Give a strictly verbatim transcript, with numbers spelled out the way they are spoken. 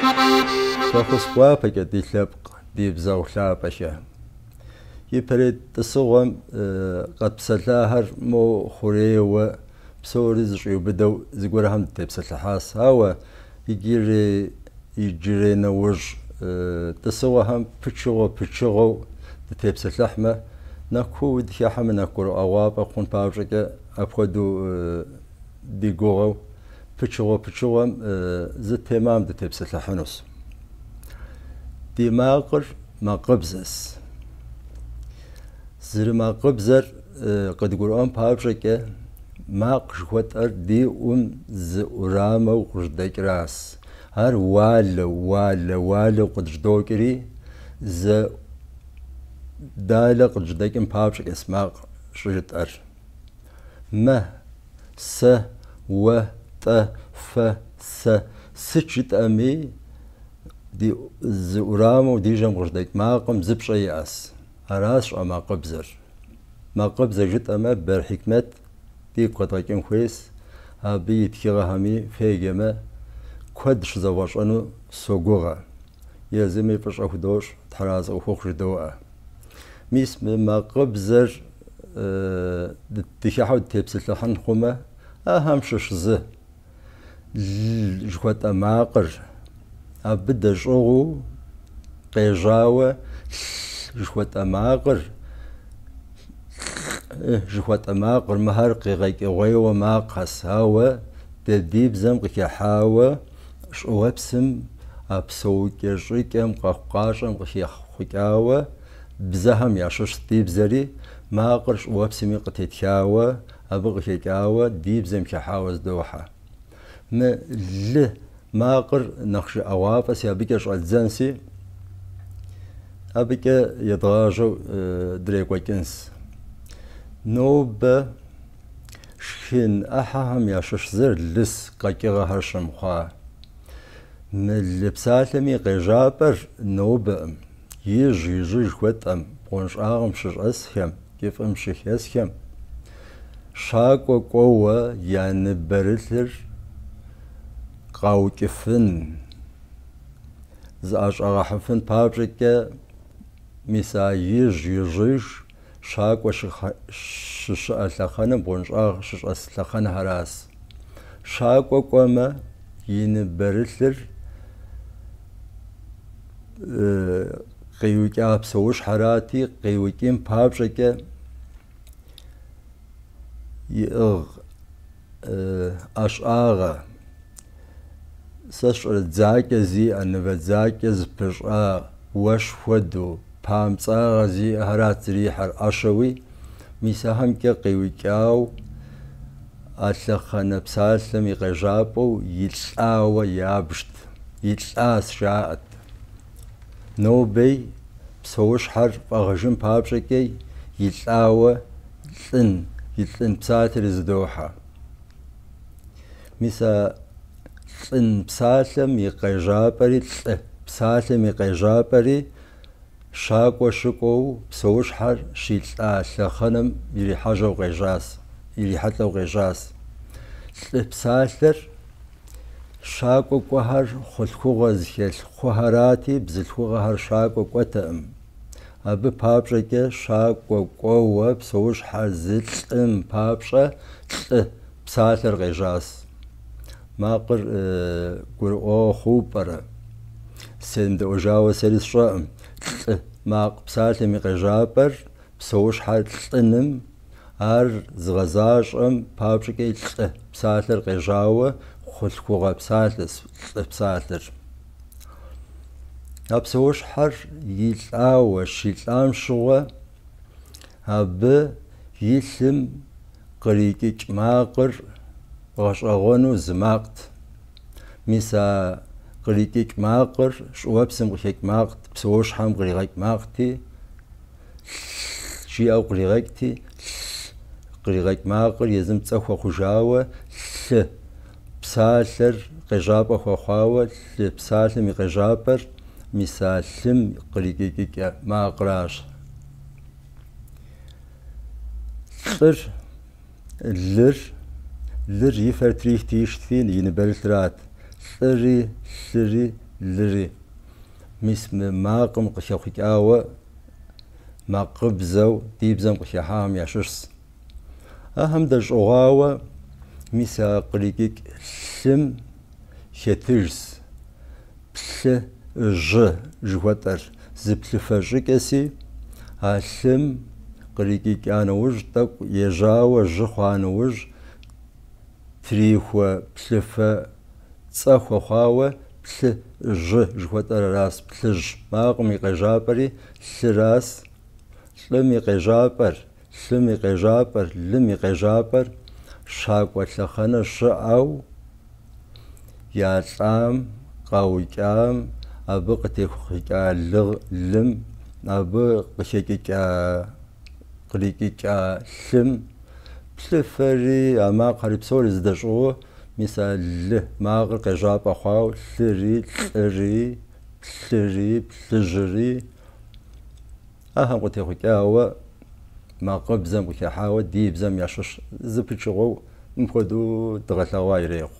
Фӏэхъус гуапэкӏэ ди лъэпкъ, ди бзэгъу лъапӏэхэ. Ипэрей тӏысыгъуэм къэтпсэлъахэр мо хъурейуэ псори зыщӏиубыдэу зыгуэрхэм дытепсэлъыхьащ. Ауэ иджырей иджырей нэужь тӏысыгъуэхэм пычыгъуэ-пычыгъуэу дытепсэлъыхьмэ, нэхъ куууи дыхыхьэмэ, нэхъ гурыӏуэгъуафӏэ хъун папщӏэкӏэ апхуэдэу ди гугъэу пычыгъуэ-пычыгъуэм зы темам дытепсэлъыхьынущ. Ди макъыр макъыбзэщ. Зэрымакъыбзэр къыдгурыӏуэн папщӏэкӏэ макъ жыхуэтӏэр ди ӏум зы ӏурамэу къыжьэдэкӏращ. Ар уалэу, уалэ, уалэу къыджьэдокӏри, зы далэ къыджьэдэкӏым папщӏэкӏэщ макъ щӏыжытӏэр. Мэ, сэ, уэ, тӏэ, фэ, сэ сыт жытӏэми, ди зы ӏурамэу ди жьэм къыжьэдэкӏ макъым зы пщӏэ иӏэщ. Аращ щӏэмакъыбзэр. Макъыбзэ жытӏэмэ, Бер Хьикмет дигу къэдгъэкӏын хуейщ. Абы и тхыгъэхэми феджэмэ, куэд щызэвгъэщӏэну согугъэ. Езыми фӏыщӏэ худощӏ, Тхьэразэ къыхухъу жыдоӏэ. Мис мы макъыбзэр дыхыхьэу дытепсэлъыхьын хъумэ, ахэм щыщ зы л жыхуэтӏэ макъыр абы дэщӏыгъуу къежьауэ лъ жыхуэтӏэ макъыр, лӏы жыхуэтӏэ макъыр, мыхэр къегъэкӏыгъуейуэ макъхэщ, ауэ дэ ди бзэм къыхыхьауэ щӏыуэпсым а псэукӏэ щӏыкӏэм, къэхъукъащӏэм къыхэхъукӏауэ бзэхэм ящыщ ди бзэри, макъыр щӏыуэпсми къытетхауэ, абы къыхэкӏауэ ди бзэм хыхьауэ зыдохьэ. Мы лы макъыр нэхъ жыӏэгъуафӏэси, абыкӏэ щӏэддзэнси, абыкӏэ едгъажьэу дрекӏуэкӏынщ. Нобэ шхын ӏыхьэхэм ящыщ зыр лыс къэкӏыгъэхэр щымыхъуа. Мы лы псалъэм и къежьапӏэр нобэӏым, ижь-ижьыж жыхуэтӏэм, бгъуэнщӏагъым щыщӏэсхэм, кӏыфӏым щыхэсхэм, щакӏуэ кӏуэуэ я ныбэрылъыр къаукӏыфын, зыӏэщӏагъэхьэфын папщӏэкӏэ, мис а ижь-ижьыж щакӏуэ щыщыӏэ лъэхъэнэм, бгъуэнщӏагъ щыщӏэс лъэхъэнэхэращ. Щакӏуэ кӏуэмэ, и ныбэрылъыр къиукӏа псэущхьэрати, къиукӏын папщӏэкӏэ иӏыгъ ӏэщӏагъэ, сэ сщӏэрэ дзакӏэ зиӏэ, нывэ дзакӏэ зыпыщӏа уэщ хуэдэу, памцӏагъэ зиӏэхэрат зэрихьэр ӏэщэуи, мис ахэмкӏэ къиукӏау а лъэхъэнэ псалъэм и къежьапӏэу илӏауэ ябжт, илӏащ жаӏэт. Нобэй псэущхьэр фӏэгъыжын папщӏэкӏэ илӏауэ лӏын, илӏын псалъэри зыдохьэ. Мис а лӏын псалъэм и къежьапӏэри, лӏы псалъэм и къежьапӏэри щакӏуэ щыкӏуэу псэущхьэр щилӏа лъэхъэнэм ирихьэжьэу къежьащ, ирихьэлӏэу къежьащ. Лӏы псалъэр щакӏуэ кӏуэхэр хъулъхугъэ зыхэлъ хъухэрати, бзылъхугъэхэр щакӏуэ кӏуэтэкъым. Абы папщӏэкӏэ щакӏуэ кӏуэуэ псэущхьэр зылӏым папщӏэ лӏы псалъэр къежьащ. Макъыр гурыӏуэгъуэ хъууэ пӏэрэ? Семыдэӏуэжауэ сэри сщӏэкъым. Лӏы макъ псалъэм и къежьапӏэр псэущхьэр лӏыным, ар зыгъэзащӏэм папщӏэкӏэ лӏы псалъэр къежьауэ хъулъхугъэ псалъэщ лӏы псалъэр. А псэущхьэр илӏауэ, щилӏам щыгъуэ абы и лъым кърикӏыкӏ макъыр гъэщӏэгъуэну зы макът. Мис а кърикӏыкӏ макъыр щӏыуэпсым къыхэкӏ макът, псэущхьэм къригъэкӏ макъти, лъ жиӏэу къригъэкӏти, лъ къригъэкӏ макъыр езым цӏэ хуэхъужауэ, лъы псалъэр къежьапӏэ хуэхъуауэ, лъы псалъэм и къежьапӏэр мис а лъым кърикӏыкӏыкӏэ макъращ. Лӏыр, лыр, лыр и фэр трихти ишхти и ныбэрылърат. Лӏыри, лъыри лыри. Мис мы макъым къыхэхъукӏауэ макъыбзэу ди бзэм къыхыхьахэм ящыщщ. Ахэм дэщӏыгъуауэ мис а кърикӏыкӏ лъым хэтыжщ плъы жьы жыхуэтӏэр, зы плъыфэ щӏыкӏэси, а лъым кърикӏыкӏа нэужь, тӏэкӏу ежьауэ жьы хъуа нэужь, трихуэ плъыфэ цӏэ хуэхъуауэ плъы жьы жыхуэтӏэр аращ. Плъыжь макъым и къежьапӏэри лъыращ. Лӏым и къежьапӏэр, лъым и къежьапӏэр, лым и къежьапӏэр щакӏуэ лъэхъэнэ щыӏэу ялӏам, къаукӏам, абы къытехъукӏа лым, абы къыхэкӏыкӏа, кърикӏыкӏа лъым плъыфэри, а макъхэри псори зыдэщӏыгъуу, мис а лы макъыр къежьапӏэ хъуауэ лъыри, лӏыри, плъыри, плъыжьыри ахэм къытехъукӏауэ макъыбзэм къыхыхьауэ ди бзэм ящыщ зы пычыгъуэу мыпхуэдэу дгъэлъэгъуа ирехъу.